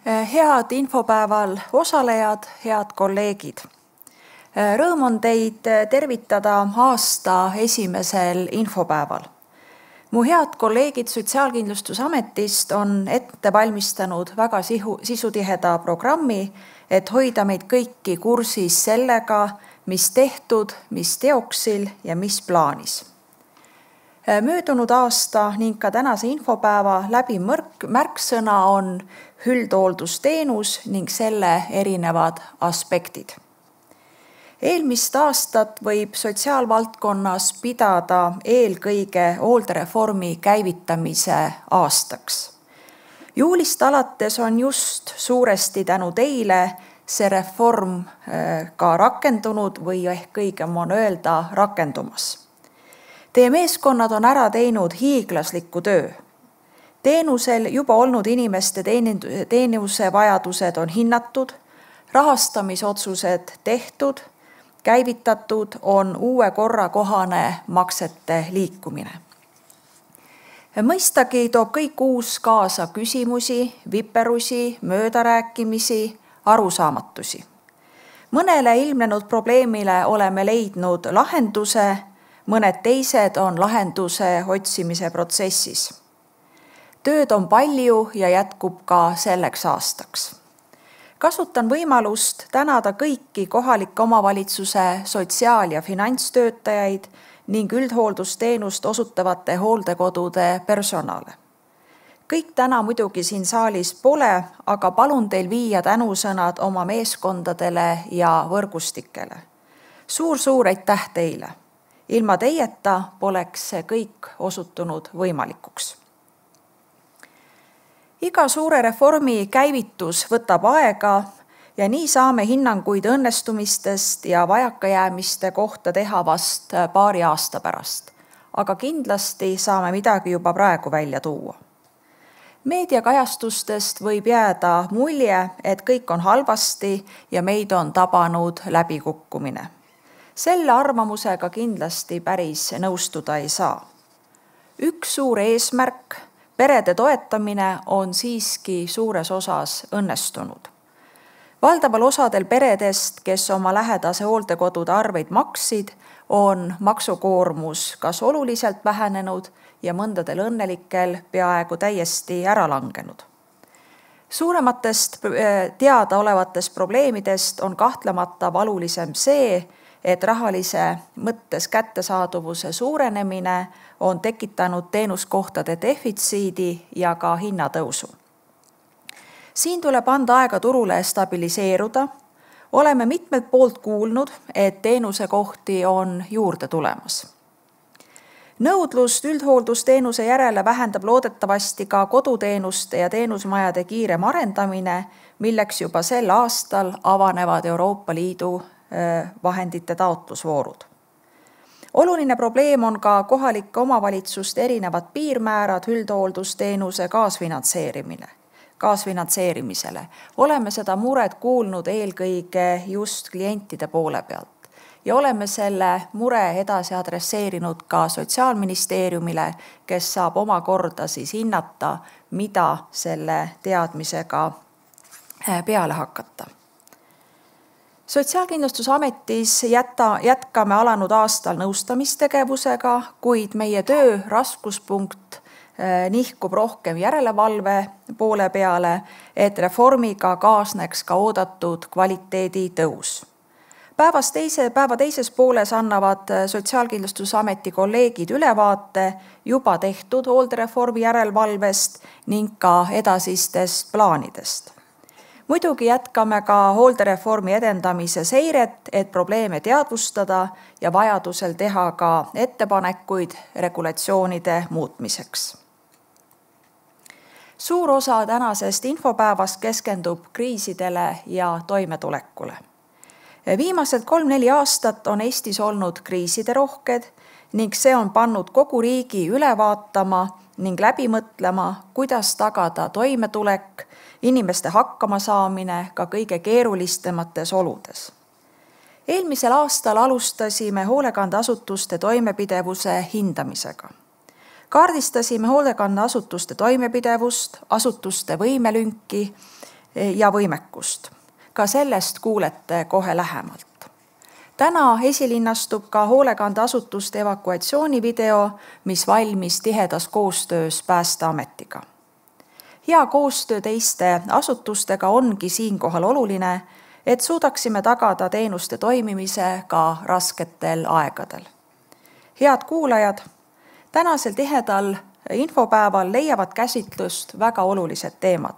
Head infopäeval osalejad, head kolleegid. Rõõm on teid tervitada aasta esimesel infopäeval. Mu head kolleegid Sotsiaalkindlustusametist on ette valmistanud väga sisutiheda programmi, et hoida meid kõiki kursis sellega, mis tehtud, mis teoksil ja mis plaanis. Möödunud aasta ning ka tänase infopäeva läbi märksõna on üldhooldusteenus ning selle erinevad aspektid. Eelmist aastat võib sotsiaalvaldkonnas pidada eelkõige hooldereformi käivitamise aastaks. Juulist alates on just suuresti tänu teile see reform ka rakendunud või ehk õigem on öelda rakendumas. Teie meeskonnad on ära teinud hiiglasliku töö. Teenusel juba olnud inimeste teenuse vajadused on hinnatud, rahastamisotsused tehtud, käivitatud on uue korra kohane maksete liikumine. Mõistagi toob kõik uus kaasa küsimusi, viperusi, möödarääkimisi, arusaamatusi. Mõnele ilmnenud probleemile oleme leidnud lahenduse, mõned teised on lahenduse otsimise protsessis. Tööd on palju ja jätkub ka selleks aastaks. Kasutan võimalust tänada kõiki kohalike omavalitsuse sotsiaal- ja finantstöötajaid ning üldhooldusteenust osutavate hooldekodude personale. Kõik täna muidugi siin saalis pole, aga palun teil viia tänusõnad oma meeskondadele ja võrgustikele. Suur aitäh teile! Ilma teieta poleks see kõik osutunud võimalikuks. Iga suure reformi käivitus võtab aega ja nii saame hinnanguid õnnestumistest ja vajakajäämiste kohta teha vast paari aasta pärast. Aga kindlasti saame midagi juba praegu välja tuua. Meediakajastustest võib jääda mulje, et kõik on halvasti ja meid on tabanud läbikukkumine. Selle arvamusega kindlasti päris nõustuda ei saa. Üks suur eesmärk, perede toetamine on siiski suures osas õnnestunud. Valdaval osadel peredest, kes oma lähedase hooldekodude arveid maksid, on maksukoormus kas oluliselt vähenenud ja mõndadel õnnelikel peaaegu täiesti ära langenud. Suurematest teadaolevatest probleemidest on kahtlemata valulisem see, et rahalise mõttes kättesaadavuse suurenemine on tekitanud teenuskohtade defitsiidi ja ka hinnatõusu. Siin tuleb anda aega turule stabiliseeruda. Oleme mitmelt poolt kuulnud, et teenusekohti on juurde tulemas. Nõudlust üldhooldusteenuse järele vähendab loodetavasti ka koduteenuste ja teenusmajade kiirem arendamine, milleks juba sel aastal avanevad Euroopa Liidu vahendite taotlusvoorud. Oluline probleem on ka kohalike omavalitsuste erinevad piirmäärad üldhooldusteenuse kaasfinantseerimisele. Oleme seda muret kuulnud eelkõige just klientide poole pealt ja oleme selle mure edasi adresseerinud ka Sotsiaalministeeriumile, kes saab omakorda hinnata, mida selle teadmisega peale hakata. Sotsiaalkindlustusametis jätkame alanud aastal nõustamistegevusega, kuid meie töö raskuspunkt nihkub rohkem järelevalve poole peale, et reformiga kaasneks ka oodatud kvaliteedi tõus. Päeva teises pooles annavad Sotsiaalkindlustusameti kolleegid ülevaate juba tehtud hooldereformi järelevalvest ning ka edasistest plaanidest. Muidugi jätkame ka hooldereformi edendamise seiret, et probleeme teadvustada ja vajadusel teha ka ettepanekuid regulatsioonide muutmiseks. Suur osa tänasest infopäevast keskendub kriisidele ja toimetulekule. Viimased 3-4 aastat on Eestis olnud kriiside rohked ning see on pannud kogu riigi üle vaatama ning läbi mõtlema, kuidas tagada toimetulek, inimeste hakkamasaamine ka kõige keerulistemates oludes. Eelmisel aastal alustasime hoolekandeasutuste toimepidevuse hindamisega. Kaardistasime hoolekandeasutuste toimepidevust, asutuste võimelünki ja võimekust. Ka sellest kuulete kohe lähemalt. Täna esilinnastub ka hoolekandeasutuste evakuatsioonivideo, mis valmis tihedas koostöös Päästeametiga. Hea koostöö teiste asutustega ongi siinkohal oluline, et suudaksime tagada teenuste toimimise ka rasketel aegadel. Head kuulajad, tänasel tihedal infopäeval leiavad käsitlust väga olulised teemad.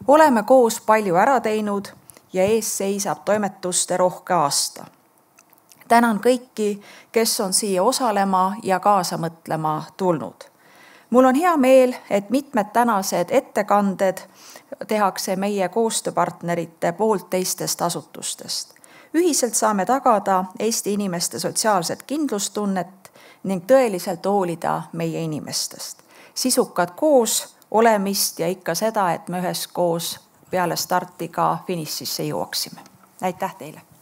Oleme koos palju ära teinud ja ees seisab toimetuste rohke aasta. Tänan kõiki, kes on siia osalema ja kaasa mõtlema tulnud. Mul on hea meel, et mitmed tänased ettekanded tehakse meie koostööpartnerite poolt teistest asutustest. Ühiselt saame tagada Eesti inimeste sotsiaalset kindlustunnet ning tõeliselt hoolida meie inimestest. Sisukad koos olemist ja ikka seda, et me üheskoos peale starti ka finišisse jõuaksime. Aitäh teile!